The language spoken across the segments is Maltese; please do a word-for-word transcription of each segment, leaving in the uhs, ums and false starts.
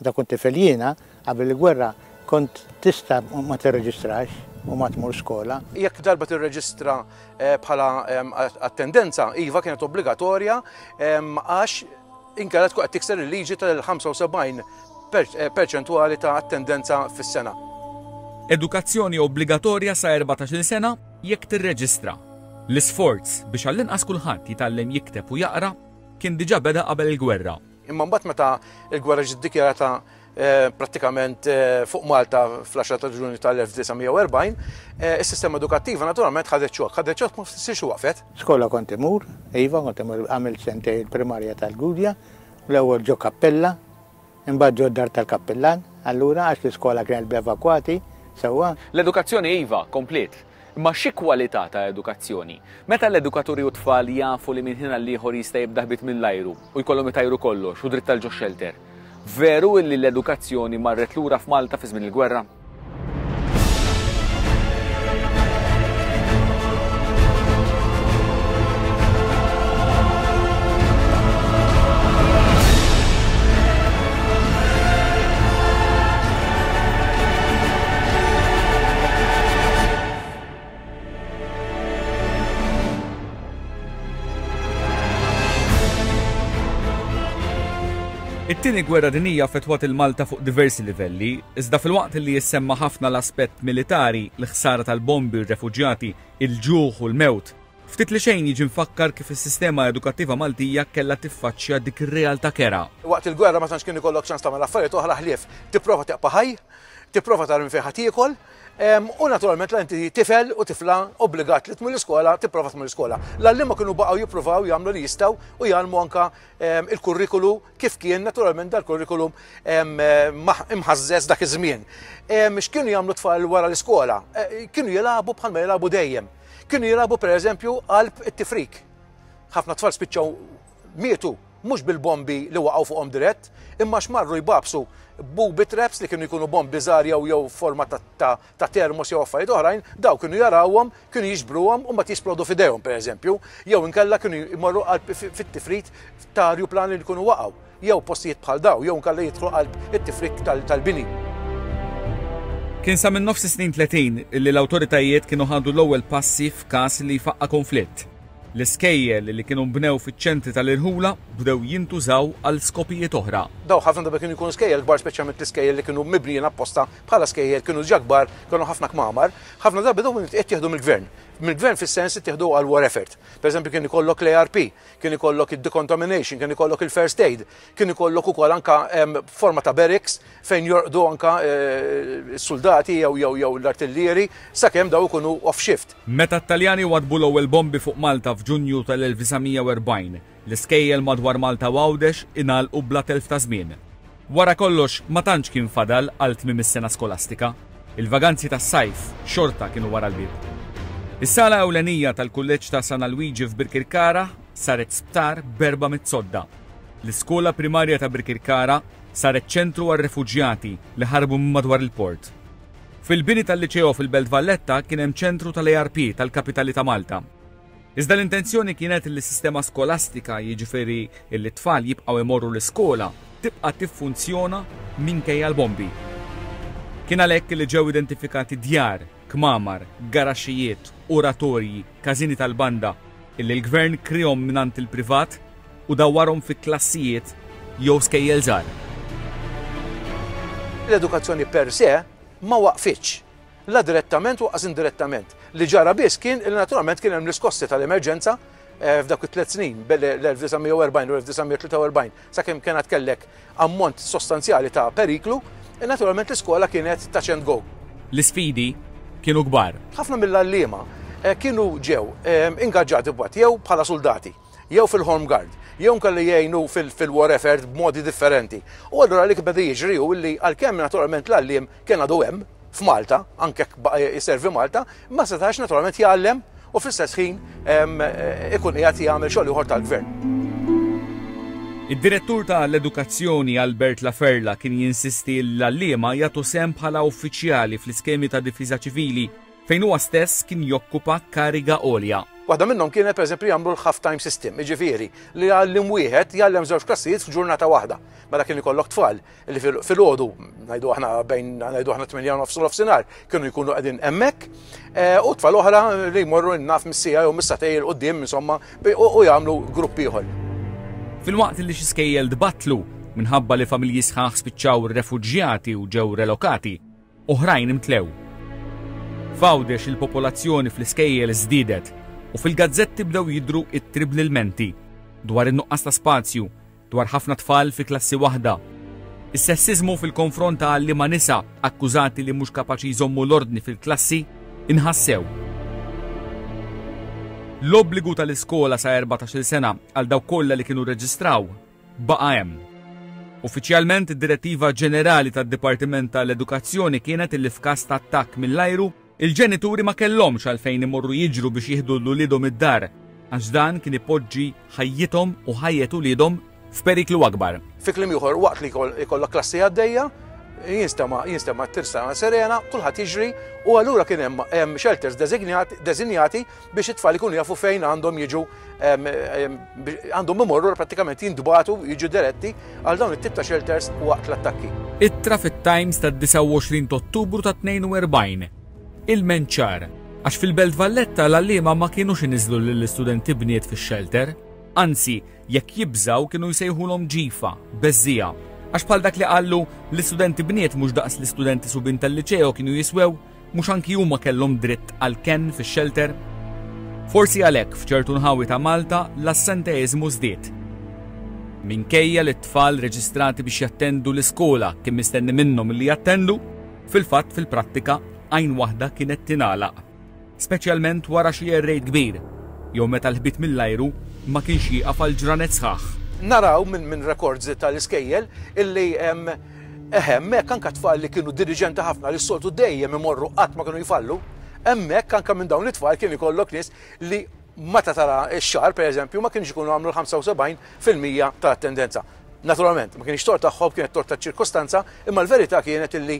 Meta kont tifel jiena, qabel il-gwerra, kont tista' ma tirreġistrax u ma tmur skola. Jekk darba tirreġistra bħala attendenza, iva kienet obbligatorja għax inkella tkun qed tikser il-liġi tal-ħamsa u sebgħin perċentwali ta' attendenza fis-sena. Edukazzjoni obbligatorja sa erbatax-il sena jekk tirreġistra. L-isforz biex għall-inqas kulħadd jitgħallem jikteb u jaqra kien diġà beda qabel il-gwerra. Imma mbagħad meta l-gwerra ġiet dikjarata prattikament fuq Malta fl-għaxra ta' Ġunju tal-elf disa' mija u erbgħin, is-sistema edukattiva naturalment ħadet xokk, ħadet xokk ma fissirx waqfet. Skola kont imur, iva, kont imur għamilt sentej il-primarja tal-Gudja, l-ewwel ġo kappella, imbagħad ġo dar tal-kappellan, allura għax l-iskola kienet b'evakwati, sewwa. L-edukazzjoni iva kompliet. Imma xi kwalità ta' edukazzjoni? Meta l-edukaturi u tfal jafu li minn ħin għal ieħor jista' jibda ħbit mill-ajru u jkollhom itajru kollox u dritt tal ġo shelter. Veru illi l-edukazzjoni marret lura f'Malta fi żmien il-gwerra? It-tieni gwerra dinjija affettwat il-Malta fuq diversi livelli, iżda fil-waqt li jissemma ħafna l-aspett militari, l-ħsara tal-bombi, ir-refuġjati, il-ġuħ u l-mewt, ftit li xejn jiġi mfakkar kif is-sistema edukattiva Maltija kellha tiffaċċja dik ir-realtà kera. Waqt il-gwerra ma tantx kien ikollok ċans tagħmel affarijiet oħra ħlief tipprova teqpa' ħaj, tipprova tara minn fejn ħadd jiekol, em, u naturalment la inti tifel u tifla obbligat li tmur l-iskola, tipprova tmur l-iskola. L-għalliema kienu baqgħu jippruvaw jagħmlu li jistgħu u jgħallmu anka, em, il-kurrikulu kif kien naturalment dal-kurrikulum, em, maħ-, imħażżeż dak iż-żmien. Em, x'kienu jagħmlu tfal wara l-iskola? E, kienu jilagħbu bħalma jilagħbu dejjem. Kienu jilagħbu pereżempju qalb it-tifrik. Ħafna tfal spiċċaw mietu mhux bil-bombi li waqgħu fuqhom dirett, imma x'marru jbabsu booby traps li kienu jkunu bombi żgħar jew jew forma ta', ta', ta' termos jew affarijiet oħrajn, daw kienu jarawhom, kienu jiġbruhom u mbagħad jisplodu f'idejhom pereżempju, jew inkella kienu jmorru qalb fi-, fit-tifrit ta' arjuplan li jkunu waqgħu, jew postijiet bħal daw, jew inkella jidħlu qalb it-tifrik tal-, tal-bini. Kien sa minn nofs snin tletin li l-awtoritajiet kienu ħadu l-ewwel passi f'każ li jfaqqa' konflitt. L-iskejjel li kienu nbnew fiċ-ċentri tal-irħula bdew jintużaw għal skopijiet oħra. Daw ħafna drabi kienu jkunu skejjel kbar, speċjalment l-iskejjel li kienu mibnijin apposta bħala skejjel kienu ġa kbar, kienu ħafna kmamar, ħafna drabi dawn kienu qed jieħdu mill-gvern. Mill-gvern fis-sens ittieħdu għal war effort. Per eżempju kien ikollok l-A R P, kien ikollok id-decontamination, kien ikollok il-first aid, kien ikollok ukoll anka, em, forma ta' barracks fejn jorqdu anka, eh, s-soldati jew, jew, jew l-artillieri sakemm daw ikunu off shift. Meta t-Taljani wadbu l-ewwel bombi fuq Malta f'Ġunju tal-elf disa' mija u erbgħin, l-iskejjel madwar Malta u Għawdex ingħalqu bla telf ta' żmien. Wara kollox ma tantx kien fadal għal tmiem is-sena skolastika. Il-vaganzi tas-sajf xorta kienu wara l-bieb. Is-sala ewlenija tal-Kulleġġ ta' San Alwiġi f'Birkirkara saret sptar b'erba' mit-sodda. L-iskola primarja ta' Birkirkara saret ċentru għar-refuġjati li ħarbu minn madwar il-port. Fil-bini tal-Liċeo fil-Belt Valletta kien hemm ċentru tal-A R P tal-Kapitali ta' Malta. Iżda l-intenzjoni kienet li s-sistema skolastika, jiġifieri li t-tfal jibqgħu imorru l-iskola, tibqa' tiffunzjona minkejja l-bombi. Kien għalhekk li ġew identifikati djar, kmamar, garaxxijiet, oratorji, każini tal-banda, illi l-gvern krihom mingħand il-privat u dawwarhom fi klassijiet jew skejjel żgħar. L-edukazzjoni per se ma waqfitx, la direttament u qas indirettament. Li ġara biss kien li naturalment kien hemm l-iskossi tal-emerġenza, eh, f'dawk it-tliet snin, bel l-elf disa' mija u erbgħin u l-elf disa' mija tlieta u erbgħin, sakemm kienet kellek ammont sostanzjali ta' periklu, e naturalment l-iskola kienet touch and go. L-isfidi kienu kbar. Ħafna mill-għalliema, eh, kienu ġew, eh, ingaġġati b'waqt jew bħala soldati, jew fil-home guard, jew kelli jgħinu fil-, fil-war effort b'modi differenti. U allura li beda jiġri hu li għalkemm naturalment l-għalliem kien għadu hemm f'Malta, anke jekk baqa' jiservi Malta, ma setax naturalment jgħallem u fl-istess ħin, em, ikun qiegħed jagħmel xogħol ieħor tal-gvern. Id-direttur tal-edukazzjoni Albert Laferla kien jinsisti l-għalliema jagħtu sehem bħala uffiċjali fl-iskemi ta' difiża ċivili fejn huwa stess kien jokkupa kariga għolja. Waħda minnhom kienet, pereżempju, jagħmlu l-half time system, jiġifieri li għalliem wieħed jgħallem żewġ klassijiet f'ġurnata waħda. Mela kien ikollok tfal li filgħodu, ngħidu aħna bejn, ngħidu aħna, tmienja u nofs u nofsinhar, kienu jkunu qegħdin hemmhekk eh, u tfal oħra li jmorru naf mis-siegħa jew mis-sagħtejn 'il quddiem, insomma, u jagħmlu grupp ieħor. Filwaqt li xi skejjel tbattlu minħabba li familji sħaħ spiċċaw refuġjati u ġew relokati, oħrajn imtlew. F'Għawdex il-popolazzjoni fl-iskejjel żdiedet u fil-gazzetti bdew jidru ittri bl-ilmenti dwar in-nuqqas ta' spazju, dwar ħafna tfal fi klassi waħda. Is-sessizmu fil-konfront ta' għalliema nisa akkużati li mhux kapaċi jżommu l-ordni fil-klassi inħassew. L-obbligu tal-iskola sa erbatax-il sena għal dawk kollha li kienu reġistraw baqa' hemm. Uffiċjalment, id-direttiva ġenerali tad-Dipartiment tal-Edukazzjoni kienet illi f'każ ta' attakk mill-ajru, il-ġenituri ma kellhomx għalfejn imorru jiġru biex jieħdu 'l uliedhom id-dar, għax dan kien ipoġġi ħajjithom u ħajjet uliedhom f'periklu akbar. Fi kliem ieħor, waqt li jkollok klassi għaddejja, jinstema jinstema tirsa sirena, kulħadd jiġri, u allura kien hemm shelters deżinjati biex it-tfal ikunu jafu fejn għandhom jiġu, għandhom imorru, prattikament jintbagħtu, jiġu diretti għal dawn it-tip ta' shelters waqt l-attakki. Ittra fit-Times tad-disgħa u għoxrin ta' Ottubru ta' tnejn u erbgħin. Ilment ċar, għax fil-Belt Valletta l-għalliema ma kienux iniżlu lill-istudenti bniet fix-shelter, anzi, jekk jibżaw kienu jsejħulhom ġifa, beżżiegħa. Għax bħal dak li qallu, l-istudenti bniet mhux daqs l-istudenti subien tal-liċeo kienu jiswew, mhux anki huma kellhom dritt għal ken fix-shelter. Forsi għalhekk f'ċertu nħawi ta' Malta l-assenteizmu żdied. Minkejja li t-tfal reġistrati biex jattendu l-iskola kien mistenni minnhom li jattendu, fil-fatt fil-prattika għajn waħda kienet tingħalaq. Speċjalment wara xi raid kbir, jew meta l-ħbit mill-ajru ma kienx jieqaf għal ġranet sħaħ. Naraw minn min records tal-iskejjel illi hemmhekk anka tfal li kienu diliġenti ħafna, li s-soltu dejjem imorru, qatt ma kienu jfallu, hemmhekk anka minn dawn it-tfal kien ikollok nies li meta tara x-xahar, pereżempju, ma kienx ikunu għamlu l-ħamsa u sebgħin fil-mija ta' attendenza. Naturalment, ma kienx tort tagħhom, kienet tort ta' ċirkostanza, imma l-verità kienet illi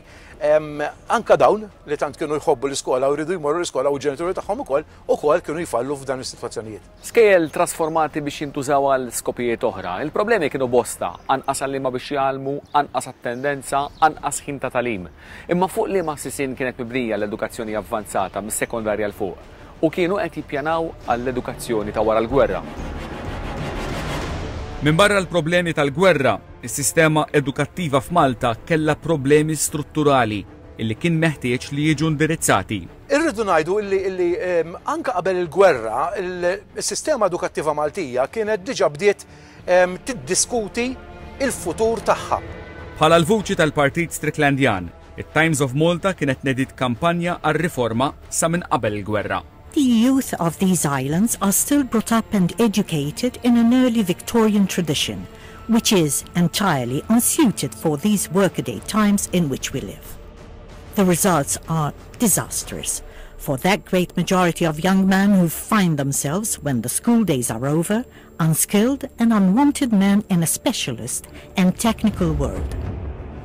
anka dawn li tant kienu jħobbu l-iskola u jridu jmorru l-iskola, u ġenituri tagħhom ukoll ukoll kienu jfallu f'dan is-sitwazzjonijiet. Skejjel trasformati biex jintużaw għal skopijiet oħra. Il-problemi kienu bosta, anqas għalliema biex jgħallmu, anqas attendenza, anqas ħin ta' tagħlim. Imma fuq liema sisien kienet mibnija l-edukazzjoni avvanzata mis-sekondarja 'l fuq u kienu qed jippjanaw għall-edukazzjoni ta' wara l-gwerra? Min barra l-problemi tal-gwerra, is-sistema edukattiva f'Malta kella problemi strutturali illi kien meħtieġ li jiġu indirizzati. Irridu ngħidu illi, illi anka qabel il-gwerra, il-sistema edukattiva Maltija kienet diġà bdiet tiddiskuti il-futur tagħha. Bħala l-vuċi tal-Partit Stricklandjan, it-Times of Malta kienet nediet kampanja għar-riforma sa minn qabel il-gwerra. The youth of these islands are still brought up and educated in an early Victorian tradition, which is entirely unsuited for these workaday times in which we live. The results are disastrous for that great majority of young men who find themselves, when the school days are over, unskilled and unwanted men in a specialist and technical world.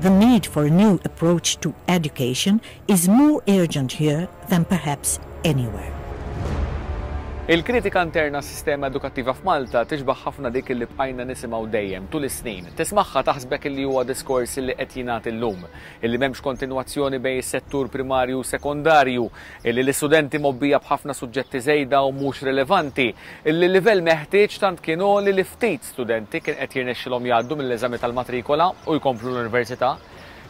The need for a new approach to education is more urgent here than perhaps anywhere. Il-kritika interna sistema edukattiva f'Malta tixbaħ ħafna dik li bqajna nisimgħu dejjem tul is-snin. Tismagħha taħsbek li huwa diskors li qed jingħad illum, illi m'hemmx kontinwazzjoni bejn is-settur primarju u sekondarju, illi l-istudenti mgħobbija b'ħafna suġġetti żejda u mhux rilevanti, illi l-livell meħtieġ tant kien li li ftit studenti kien qed jirnexxilhom jgħaddu mill-eżami tal-matrikola u jkomplu l-università.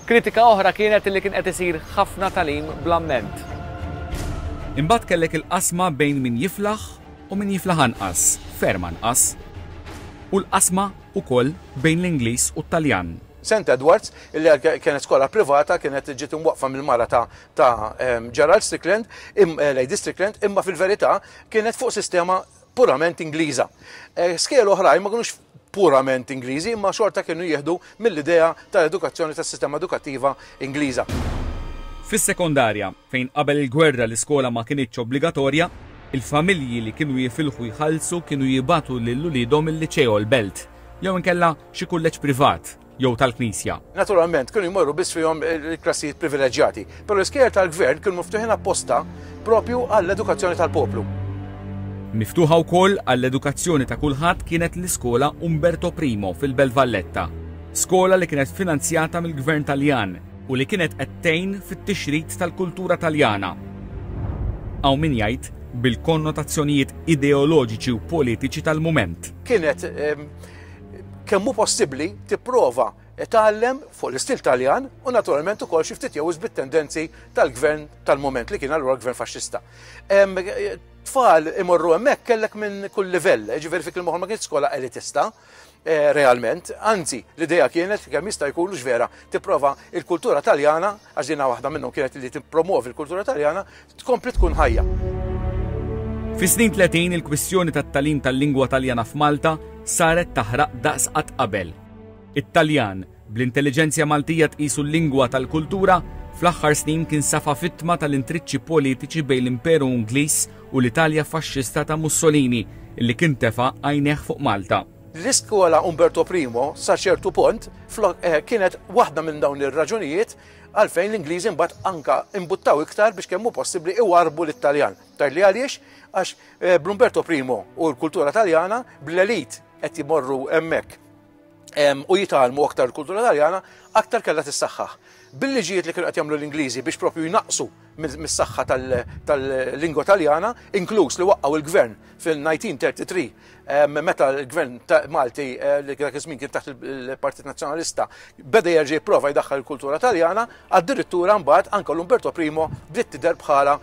Kritika oħra kienet li kien qed isir ħafna tagħlim bl-amment. Imbagħad kellek il-qasma bejn min jiflaħ u min jiflaħ anqas, ferm anqas. U l-qasma ukoll bejn l-Ingliż u t-Taljan. Saint Edwards, illi kienet skola privata, kienet ġiet imwaqfa mill-mara ta', ta Gerald Strickland, im, eh, Lady Strickland, imma fil-verità kienet fuq sistema purament Ingliża. Eh, skejjel oħrajn ma kinux purament Ingliżi, imma xorta kienu jieħdu mill-idea tal-edukazzjoni tas-sistema edukattiva Ingliża. Fis-sekondarja, fejn qabel il-gwerra l-iskola ma kinitx obbligatorja, il-familji li kienu jifilħu jħallsu kienu jibagħtu lil uliedhom il-liċeo l-Belt, jew inkella xi kulleġġ privat jew tal-Knisja. Naturalment, kienu jmorru biss fihom il-klassijiet privileġġjati, però l-iskejjel tal-gvern kienu miftuħin apposta propju għall-edukazzjoni tal-poplu. Miftuħa wkoll għall-edukazzjoni ta' kulħadd kienet l-iskola Umberto Primo fil-Belt Valletta, skola li kienet finanzjata mill-Gvern Taljan u li kienet qed tgħin fit-tixrid tal-kultura Taljana. Hawn min jgħid bil-konnotazzjonijiet ideoloġiċi u politiċi tal-mument. Kienet kemm hu possibbli tipprova tgħallem fuq l-istil Taljan u naturalment ukoll xi ftit jew bit-tendenzi tal-gvern tal-moment li kien allura gvern faxxista. Tfal imorru hemmhekk kellek minn kull livell, ġifieri fi kliem ma kienx skola elitista eh, realment, anzi l-idea kienet kemm jista' jkun vera tipprova il-kultura Taljana, għax dina waħda minnhom kienet li tippromovi l-kultura Taljana, tkompli tkun ħajja. Fi snin tletin il-kwistjoni tat-tagħlim tal-lingwa Taljana f'Malta saret taħraq daqs qatt qabel. It-Taljan, bl-intelliġenzja Maltija tqisu l-lingwa tal-kultura, fl-aħħar snin kien safa vittma tal-intriċċi politiċi bejn l-Imperu Ingliż u l-Italja faxxista ta' Mussolini, illi kien tefa' għajnejh fuq Malta. L-iskola Umberto Primo sa ċertu punt eh, kienet waħda minn dawn ir-raġunijiet għalfejn l-Ingliżi mbagħad anka imbuttaw iktar biex kemm hu possibbli iwarbu l-Italjan. Tgħidli għaliex? Għax eh, bl-Umberto Primo u l-kultura Taljana, bl-elit qed jmorru hemmhekk u jitgħallmu aktar l-kultura Taljana, aktar kellha tissaħħaħ. Bil-liġijiet li kienu qed jagħmlu l-Ingliżi biex propju jnaqsu mis-saħħa tal-lingwa Taljana, inkluż li waqqgħu il-gvern fil-elf disa' mija u tlieta u tletin, meta l-gvern Malti eh, li dak iż-żmien kien taħt il-Partit Nazzjonalista beda jerġa' jipprova jdaħħal il-kultura Taljana, addirittura mbagħad anke l-Umberto Primo bdiet tidher bħala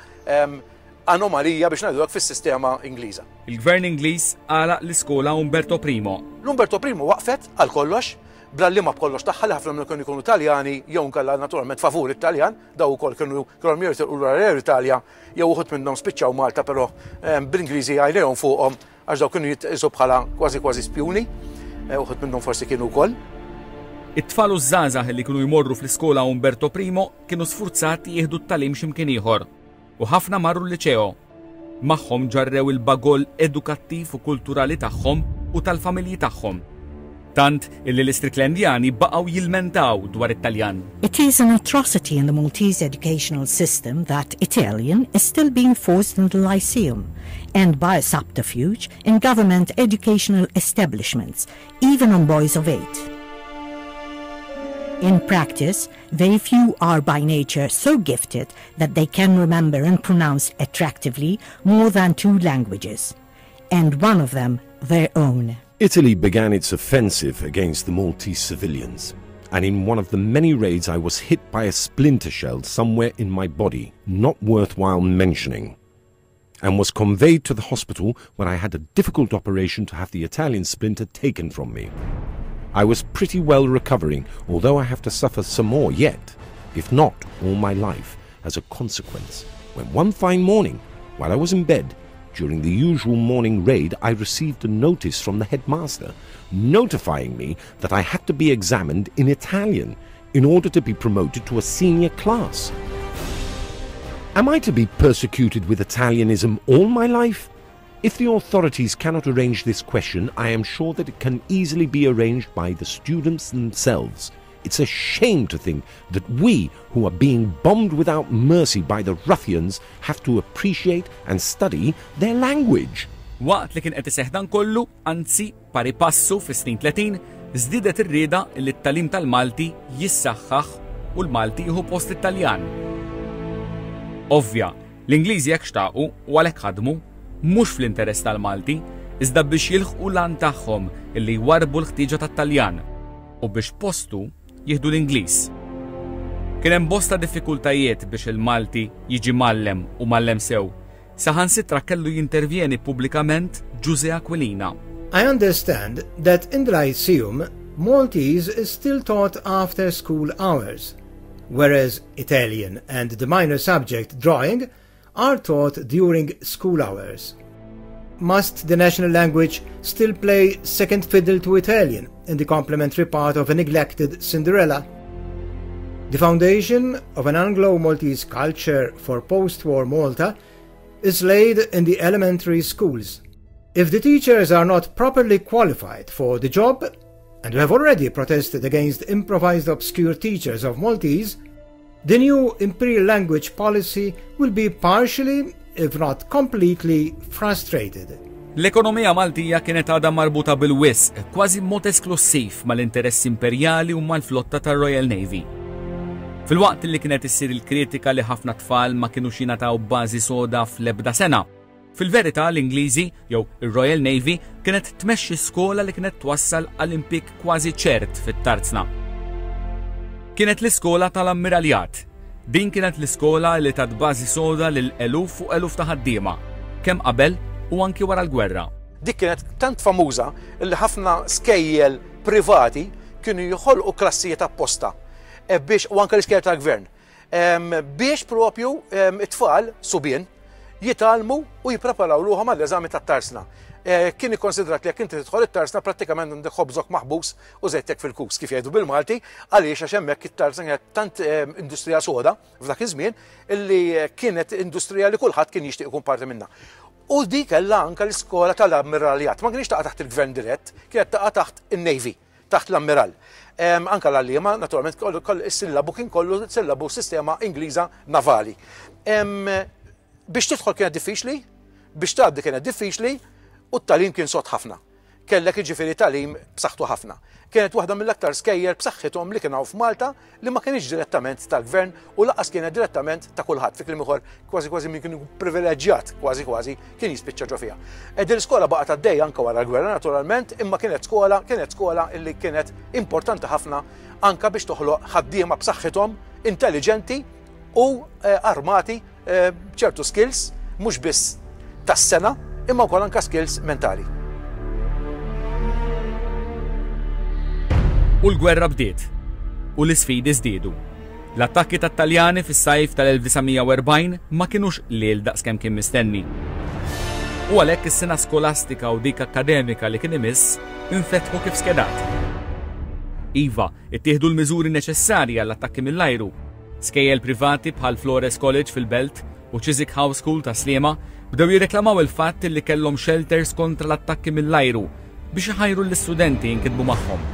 anomalija, biex ngħidu, fis-sistema Ingliża. Il-gvern Ingliż għalaq l-iskola Umberto Primo. L-Umberto Primo waqfet għal kollox, bl-għalliema b'kollox tagħha, li ħafna minnhom kienu jkunu Taljani jew nkella naturalment favur it-Taljan, daw ukoll kienu kienu jitilqu lura l-Italja jew uħud minnhom spiċċaw Malta, però bl-Ingliżi għajnejhom fuqhom, għax daw kienu jitqisu bħala kważi kważi spjuni, eh, uħud minnhom forsi kienu wkoll. It-tfal u żgħażagħ li kienu jmorru fl-iskola Umberto Primo kienu sfurzati jieħdu t-tagħlim x'imkien ieħor u ħafna marru l-liċeo. Magħhom ġarrew il-bagoll edukattiv u kulturali tagħhom u tal-familji tagħhom. Tant illi l-Istriklendjani baqgħu jilmentaw dwar it-Taljan. It is an atrocity in the Maltese educational system that Italian is still being forced in the Lyceum and by a subterfuge in government educational establishments, even on boys of eight. In practice, very few are by nature so gifted that they can remember and pronounce attractively more than two languages, and one of them their own. Italy began its offensive against the Maltese civilians, and in one of the many raids I was hit by a splinter shell somewhere in my body, not worthwhile mentioning, and was conveyed to the hospital, where I had a difficult operation to have the Italian splinter taken from me. I was pretty well recovering, although I have to suffer some more yet, if not all my life, as a consequence, when one fine morning, while I was in bed, during the usual morning raid, I received a notice from the headmaster notifying me that I had to be examined in Italian in order to be promoted to a senior class. Am I to be persecuted with Italianism all my life? If the authorities cannot arrange this question, I am sure that it can easily be arranged by the students themselves. It's a shame to think that we, who are being bombed without mercy by the ruffians, have to appreciate and study their language. Waqt li kien qed iseħħ dan kollu, anzi pari passu fis-snin tletin, żdiedet ir-rieda li t-tagħlim tal-Malti jissaħħaħ u l-Malti jieħu post it-Taljan. Ovvja, l-Ingliżi hekk xtaqu u għalhekk ħadmu, mhux fl-interess tal-Malti, iżda biex jilħqu l-għan tagħhom illi jwarbu l-ħtieġa tat-Taljan u biex postu jieħdu l-Ingliż. Kien hemm bosta diffikultajiet biex il-Malti jiġi mgħallem u mgħallem sew. Saħansitra kellu jintervjeni pubblikament Ġużè Aquilina. I understand that in the Lyceum, Maltese is still taught after school hours, whereas Italian and the minor subject drawing are taught during school hours. Must the national language still play second fiddle to Italian in the complementary part of a neglected Cinderella? The foundation of an Anglo-Maltese culture for post-war Malta is laid in the elementary schools. If the teachers are not properly qualified for the job, and we have already protested against improvised obscure teachers of Maltese, the new imperial language policy will be partially, if not completely, frustrated. L-ekonomija Maltija kienet għadha marbuta bil-wisq, kważi mod esklusiv mal-interess imperjali u mal-flotta tar-Royal Navy. Filwaqt li kienet issir il-kritika li ħafna tfal ma kienu jingħataw bażi soda fl-ebda sena. Fil-verità l-Ingliżi jew ir-Royal Navy kienet tmexxi skola li kienet twassal għal impjieg kważi ċert fit-tarzna. Kienet l-iskola tal-Ammiraljat. Din kienet l-iskola li tat bażi soda lil eluf u eluf ta' ħaddiema, kemm qabel u anki wara l-gwerra. Dik kienet tant famuża li ħafna skejjel privati kienu joħolqu klassijiet apposta e biex u anke l-iskejjel tal-gvern biex propju it-tfal subien jitgħallmu u jippreparaw ruħhom għall-eżami tat-tarsna. E, kien ikkonsidrat li jekk inti tidħol it-tarsna prattikament għandek ħobżok maħbus u żejtek fil-kus kif jgħidu bil-Malti, għaliex għax hemmhekk it-tarsna kienet tant industrija soda f'dak iż-żmien illi kienet industrija li kulħadd kien jixtieq ikun parti minnha. U di kellha anke l-iskola tal-ammiraljat, ma kienx taqa' taħt il-gvern dirett, kienet taqa' taħt in-Navy, taħt l-ammiral. Anka l-għalliema, naturalment, is-sillabu kien kollu sillabu sistema Ingliża navali. Biex tidħol kienet diffiċli, biex tgħaddi kienet diffiċli, u t-tagħlim kien sod ħafna. Kellek jiġifieri tagħlim b'saħħtu ħafna. Kienet waħda mill-aktar skejjel b'saħħithom li kien hawn f'Malta li ma kienx direttament tal-gvern u lanqas kienet direttament ta' kulħadd. Fi kliem ieħor kważi kważi min kien privileġġjat kważi kważi kien jispiċċa ġo fiha. E din l-iskola baqgħet għaddejja anke wara l-gwerra naturalment, imma kienet skola, kienet skola illi kienet importanti ħafna anka biex toħloq ħaddiema b'saħħithom, intelligenti u eh, armati eh, b'ċertu skills mhux biss tas-sengħa imma wkoll anke skills mentali. U l-gwerra bdiet. U l-isfidi żdiedu. L-attakki tat-Taljani fis-sajf tal-elf disa' mija u erbgħin ma kinux qliel daqskemm kien mistenni. U għalhekk is-sena skolastika u dik akkademika li kien imiss infetħu kif skedat. Iva, ittieħdu l-miżuri neċessarji għall-attakki mill-ajru. Skejjel privati bħal Flores College fil-Belt u Chiswick House School ta' Sliema bdew jirreklamaw il-fatt li kellhom shelters kontra l-attakki mill-ajru biex iħajru l-istudenti jinkitbu magħhom.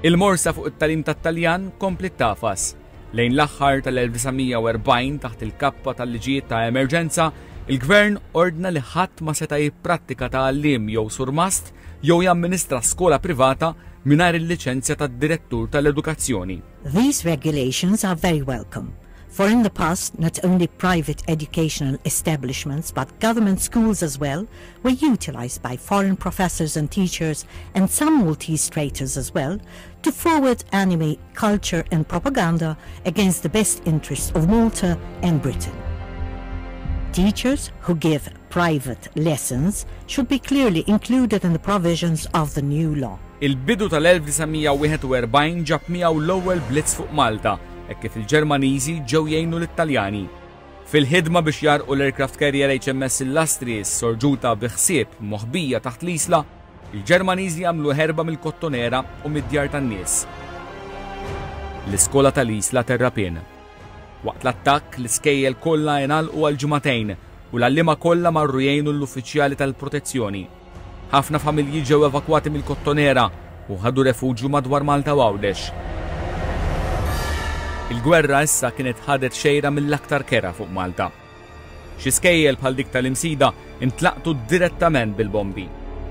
Il-morsa fuq it-tagħlim tat-Taljan kompli tafas. Lejn l-aħħar tal-elf disa' mija u erbgħin taħt il-kappa tal-liġijiet ta' emerġenza, il-gvern ordna li ħadd ma seta' jipprattika ta' għalliem jew surmast jew jamministra skola privata mingħajr il-liċenzja tad-direttur tal-edukazzjoni. These regulations are very welcome, for in the past not only private educational establishments but government schools as well were utilized by foreign professors and teachers and some Maltese traitors as well to forward enemy culture and propaganda against the best interests of Malta and Britain. Teachers who give private lessons should be clearly included in the provisions of the new law. Il-bidu tal-elf disa' mija u wieħed u erbgħin ġab miegħu l-ewwel blitz fuq Malta, hekk kif il-Ġermaniżi ġew jgħinu lit-Taljani. Fil-ħidma biex jarqu l-aircraft carrier H M S Illustrious sorġuta bi ħsieb moħbija taħt l-isla, il-Ġermaniżi għamlu ħerba mill-Kottonera u mid-djar tan-nies. L-iskola tal-Isla Terrapien. Waqt l-attakk, l-iskejjel kollha ingħalqu għal ġimagħtejn u l-għalliema kollha marru jgħinu l-uffiċjali tal-protezzjoni. Ħafna familji ġew evakwati mill-Kottonera u ħadu refuġju madwar Malta u Għawdex. Il-gwerra issa kienet ħadet xejra mill-aktar kera fuq Malta. Xi skejjel bħal dik tal-Imsida intlaqtu direttament bil-bombi.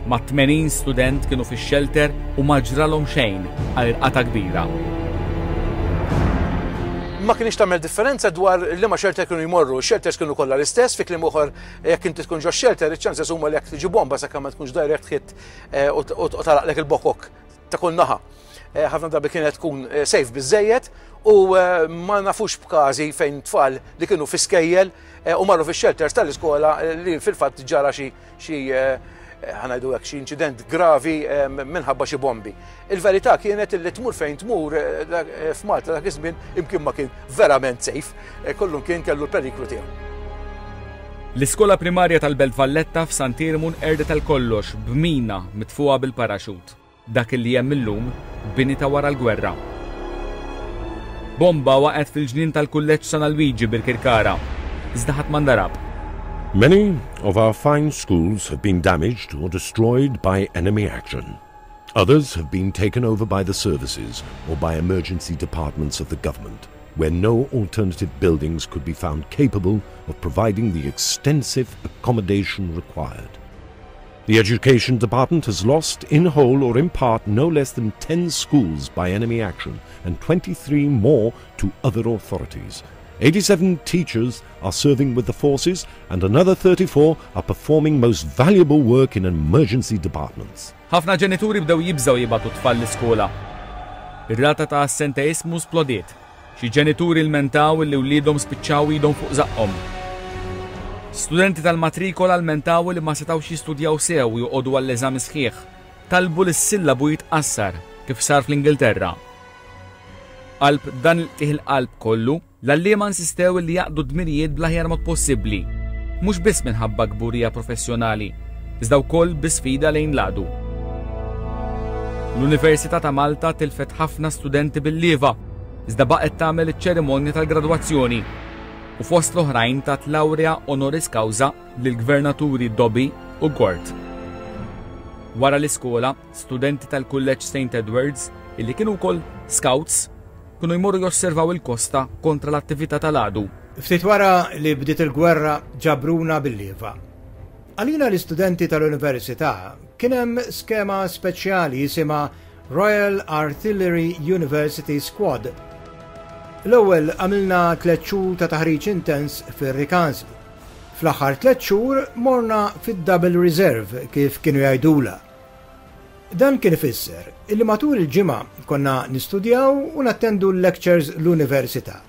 Ma' tmenin student kienu fix-shelter u ma ġralhom xejn għal irqata kbira. Ma kienx tagħmel differenza dwar liema shelter kienu jmorru. Shelters kienu kollha l-istess, fi kliem ieħor jekk inti tkun ġo shelter, iċ-ċanses huma li jekk tiġi bomba sakemm ma tkunx direct hit, eh, u t-, u t-, u taraqlek il-bokok ta' kull naħa. Eh, ħafna drabi kienet tkun, eh, safe biżejjed u, eh, ma nafux b'każi fejn tfal li kienu fi skejjel, eh, u marru fix-shelters tal-iskola, eh, li fil-fatt ġara xi, xi, eh, ħanajdu hekk xi inċident gravi, eh, minħabba xi bombi. Il-verità kienet li tmur fejn tmur, eh, dak, eh, f'Malta dak iż-żmien imkien ma kien verament safe, eh, kollu kien kellu l-periklu tiegħu. L-iskola primarja tal-Belt Valletta f'Sant'Iermu nqerdet għal kollox b'mina mitfuha bil-paraxut. Dak li hemm illum bini ta' wara l-gwerra. Bomba waqgħet fil-ġnien tal-Kulleġġ San Alwiġi Birkirkara, iżda ħadd ma ndarab. Many of our fine schools have been damaged or destroyed by enemy action. Others have been taken over by the services or by emergency departments of the government. where no alternative buildings could be found capable of providing the extensive accommodation required. The Education Department has lost, in whole or in part, no less than ten schools by enemy action and twenty-three more to other authorities. eighty-seven teachers are serving with the forces and another thirty-four are performing most valuable work in emergency departments. Ħafna ġenituri bdew jibżgħu jibagħtu tfal l-iskola. Ir-rata ta' assenteismu splodiet. Xi ġenituri lmentaw li wliedhom spiċċaw idhom fuq żaqqhom. Studenti tal-matrikola lmentaw li ma setgħux jistudjaw sew u joqogħdu għall-eżami sħiħ. Talbu li s-sillabu jitqassar kif sar fl-Ingilterra. Qalb dan il-qtigħ il-qalb kollu, l-għalliema insistew li jaqdu dmirijiet bl-aħjar mod possibbli, mhux biss minħabba kburija professjonali, iżda wkoll bi sfida lejn l-għadu. L-Università ta' Malta tilfet ħafna studenti bil-lieva, iżda baqgħet tagħmel iċ-ċerimonja tal-gradwazzjoni u fost l-oħrajn tat laurea honoris causa lill-gvernaturi Dobbie u Gort. Wara l-iskola, studenti tal-Kulleġġ Saint Edwards, illi kienu wkoll scouts, kienu jmorru josservaw il-kosta kontra l-attività tal-għadu. Ftit wara li bdiet il-gwerra ġabruna bil-lieva. Għalina l-istudenti tal-università kien hemm skema speċjali jisimha Royal Artillery University Squad. L-ewwel għamilna tliet xhur ta' taħriġ intens fir-Rikażli. Fl-aħħar tliet xhur morna fid-Double Reserve, kif kienu jgħidula. Dan kien ifisser illi matul il-ġimgħa konna nistudjaw u nattendu l-lectures l-università.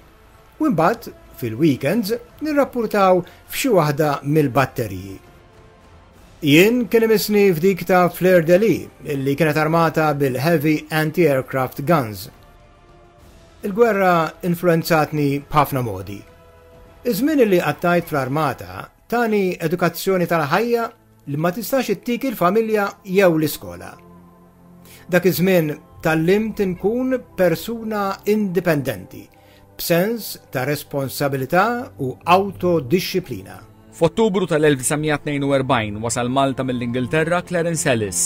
U imbagħad fil-weekends nirrappurtaw f'xi waħda mill-batteriji. Jien kien imissni f'dik ta' Fleur de Lis, illi kienet armata bil-heavy anti-aircraft guns. Il-gwerra influenzatni b'ħafna modi. Iż-żmien li qattajt fl-armata tani edukazzjoni tal-ħajja li ma tistax ittik il-familja jew l-iskola. Dak iż-żmien tgħallimt inkun persuna indipendenti, b'sens ta' responsabilità u autodixxiplina. F'Ottubru tal-elf disa' mija tnejn u erbgħin wasal Malta mill-Ingilterra Clarence Ellis,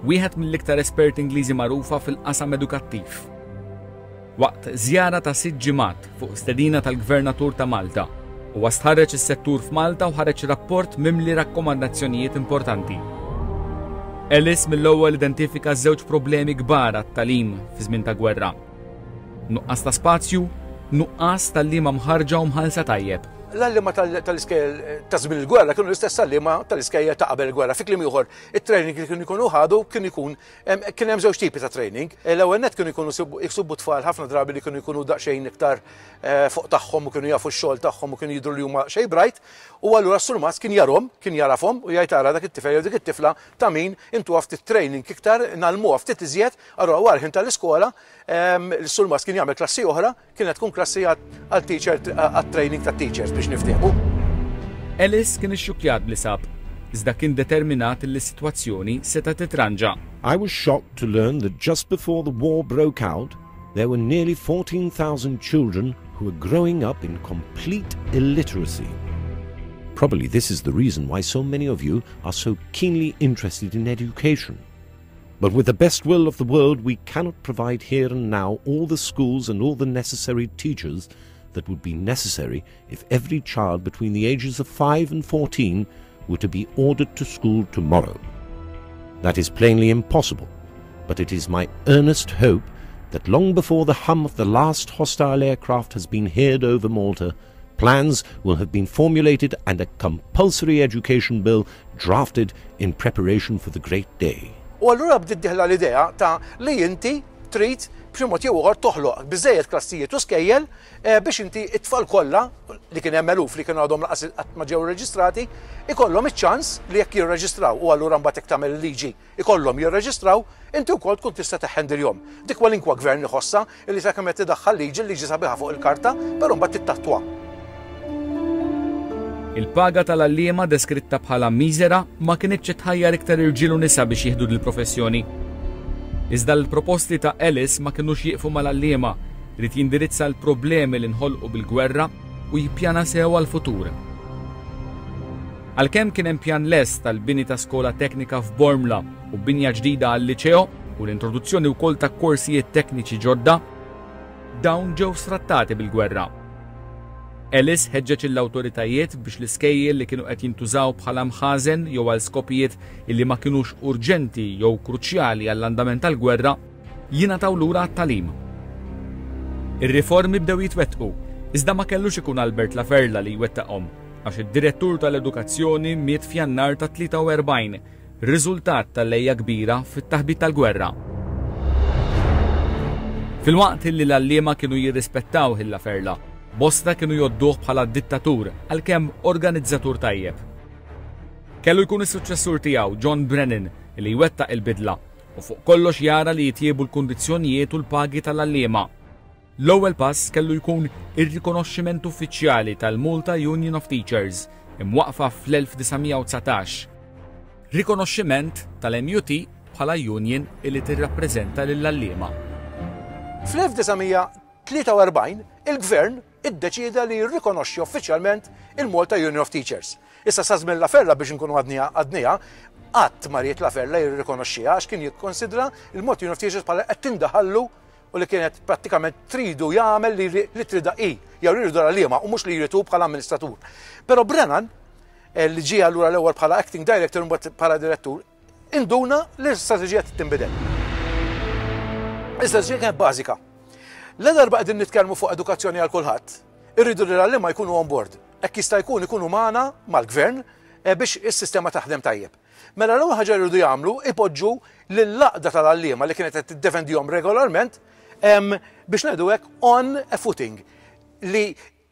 wieħed mill-iktar esperti Ingliżi magħrufa fil-qasam edukattiv. Waqt żjara ta' sitt ġimgħat fuq stedina tal-Gvernatur ta' Malta, u stħarreġ is-settur f'Malta u ħareġ rapport mimli rakkomandazzjonijiet importanti. Ellis mill-ewwel identifika żewġ problemi kbar għat-tagħlim fi żmien ta' gwerra. Nuqqas ta' spazju, nuqqas t'għalliema mħarrġa u mħallsa tajjeb. L-għalliema tal-iskejjel ta' żmien il-gwerra kienu l-istess għalliema tal-iskejjel ta' qabel il-gwerra. Fi kliem ieħor, it-training li kienu jkunu ħadu kien ikun kien hemm żewġ tipi ta' training. L-ewwel net kienu jkunu jsibu tfal ħafna drabi li kienu jkunu daqsxejn iktar eh, fuq tagħhom u kienu jafu x-xogħol tagħhom u kienu jidhru li huma xejn bright. U allura s-surmast kien jarahom, kien jagħrafhom u jgħid, "Ara dak it-tifel jew dik it-tifla ta' min intu ftit training iktar, ngħallmuha ftit iżjed." Allura wara ħin tal-iskola l-surmast kien jagħmel klassi oħra, kienet tkun klassi għal-teacher, għat-training tat-teachers, biex niftehmu. Ellis kien ixxukjat b'li sab, iżda kien determinat li s-sitwazzjoni seta' titranġa. I was shocked to learn that just before the war broke out, there were nearly fourteen thousand children who were growing up in complete illiteracy. Probably this is the reason why so many of you are so keenly interested in education. But with the best will of the world, we cannot provide here and now all the schools and all the necessary teachers that would be necessary if every child between the ages of five and fourteen were to be ordered to school tomorrow. That is plainly impossible, but it is my earnest hope that long before the hum of the last hostile aircraft has been heard over Malta, plans will have been formulated and a compulsory education bill drafted in preparation for the great day. U allura bdiet dieħla l-idea ta' li inti trid b'xi mod jew ieħor toħloq biżejjed klassijiet u skejjel eh, biex inti it-tfal kollha, li kien hemm eluf li kienu għadhom lanqas qatt ma ġew reġistrati, ikollhom iċ-ċans li jekk jirreġistraw, u allura mbagħad jekk tagħmel liġi ikollhom jirreġistraw, inti wkoll tkun tista' teħendilhom. Dik kwalinkwa gvern iħossha li sakemm qed tidaħħal liġi, liġi sabiħa fuq il-karta, però mbagħad tittattwa. Il-paga tal-għalliema, deskritta bħala miżera, ma kinitx tħajjar iktar irġiel u nisa biex jieħdu l-professjoni. Iżda l-proposti ta' Ellis ma kinux jieqfu mal-għalliema, ried jindirizza l-problemi li nħolqu bil-gwerra u jippjana sew għal-futur. Għalkemm kien hemm pjan lest tal-bini ta' skola teknika f'Bormla u binja ġdida għal-liċeo u l-introduzzjoni wkoll ta' korsijiet tekniċi ġodda, dawn ġew sfrattati bil-gwerra. Ellis ħeġġeġ l-awtoritajiet biex l-iskejjel li kienu qed jintużaw bħala mħażen jew għal skopijiet illi ma kinux urġenti jew kruċjali għall-andament tal-gwerra jingħataw lura għat-tagħlim. Ir-riformi bdew jitwettqu, iżda ma kellux ikun Albert Laferla li jwettaqhom, għax id-direttur tal-edukazzjoni miet f'Jannar ta' tlieta u erbgħin, riżultat tal-għeja kbira fit-taħbit tal-gwerra. Filwaqt li l-għalliema kienu jirrispettaw lil Laferla, bosta kienu jgħodduh bħala dittatur għalkemm organizzatur tajjeb. Kellu jkun is-suċċessur tiegħu, John Brennan, li jwettaq il-bidla u fuq kollox jara li jitjiebu l-kundizzjonijiet u l-pagi tal-għalliema. L-ewwel pass kellu jkun ir-rikonoxximent uffiċjali tal-Malta Union of Teachers, imwaqfa fl-elf disa' mija u dsatax. Rikonoxximent tal-M U T bħala union illi tirrappreżenta lill-għalliema. Fl-elf disa' mija tlieta u erbgħin il-gvern iddeċida li jirrikonoxxi uffiċjalment il-Malta Union of Teachers. Issa, sa żmien Laferla, biex nkunu għadnija għadnija, qatt ma ried Laferla jirrikonoxxiha għax kien jikkonsidra il-Malta Union of Teachers bħala qed tindaħallu u li kienet prattikament tridu jagħmel li li tridha hi jew li jridu l-għalliema u mhux li jridu bħala amministratur. Però Brennan, eh, li ġie allura l-ewwel bħala acting director u mbagħad bħala direttur, induna li l-istrateġija tinbidel. L-istrateġija kienet bażika. La darba qegħdin nitkellmu fuq edukazzjoni għal kulħadd, irridu li l-għalliema jkunu on board. Hekk jista' jkun ikunu magħna mal-gvern eh, biex is-sistema taħdem tajjeb. Mela l-ewwel ħaġa jridu jagħmlu, ipoġġu lill-għaqda tal-għalliema li kienet qed tiddefendihom regolarment em, biex ngħidu hekk on a footing li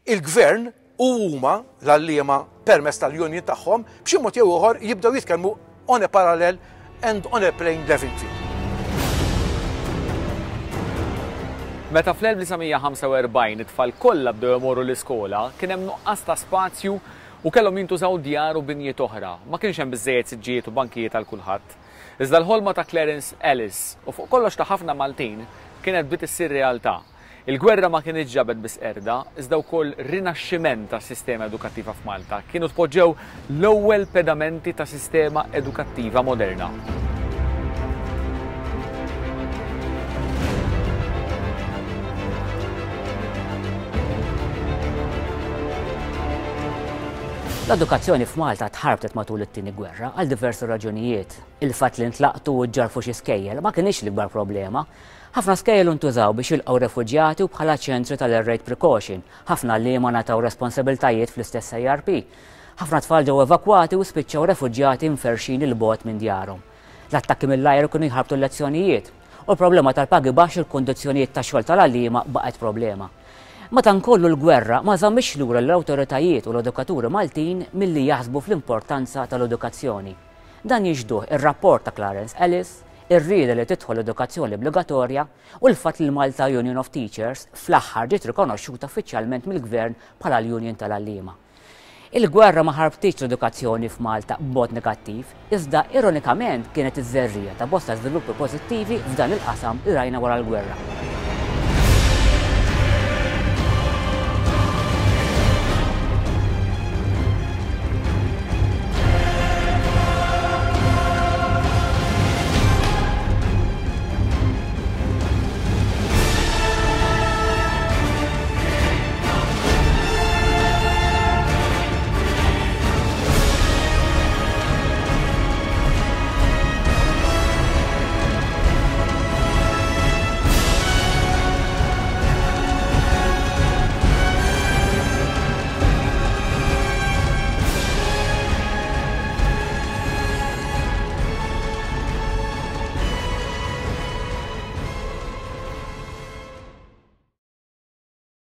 il-gvern u huma l-għalliema permezz tal-union tagħhom b'xi mod jew ieħor jibdew jitkellmu on a parallel and on a plain level field. Meta fl-elf disa' mija ħamsa u erbgħin it-tfal kollha bdew imorru l-iskola, kien hemm nuqqas ta' spazju u kellhom jintużaw djar u binjiet oħra. Ma kienx hemm biżejjed siġġijiet u bankijiet għal kulħadd. Iżda l-ħolma ta' Clarence Ellis u fuq kollox ta' ħafna Maltin kienet bdiet issir realtà. Il-gwerra ma kienx ġabet biss qerda, iżda wkoll rinaxximent tas sistema edukattiva f'Malta. Kienu tpoġġew l-ewwel pedamenti ta' sistema edukattiva moderna. L-edukazzjoni f'Malta tħarbtet matul it-tieni gwerra għal diversi raġunijiet. Il-fatt li ntlaqtu u ġarfu xi skejjel ma kienx l-ikbar problema. Ħafna skejjel intużaw biex jilqgħu refuġjati u bħala ċentri tal-air raid precaution. Ħafna għalliema ngħataw responsabiltajiet fl-istess A R P. Ħafna tfal ġew evakwati u spiċċaw refuġjati mferxin 'il bogħod minn djarhom. L-attakki mill-ajru kienu jħarbtu l-lezzjonijiet u l-problema tal-pagi baxx u l-kondizzjonijiet tax-xogħol tal-għalliema baqgħet problema. Madankollu l-gwerra ma żammitx lura l-awtoritajiet u l-edukaturi Maltin milli jaħsbu fl-importanza tal-edukazzjoni. Dan jixhduh ir-rapport ta' Clarence Ellis, ir-rieda li tidħol l-edukazzjoni obbligatorja u l-fatt li l-Malta Union of Teachers fl-aħħar ġiet rikonoxxuta uffiċjalment mill-gvern bħala l-Union tal-Għalliema. Il-gwerra ma ħarbtitx l-edukazzjoni f'Malta b'mod negattiv, iżda ironikament kienet iż-żerriegħa ta' bosta żviluppi pożittivi f'dan il-qasam li rajna wara l-gwerra.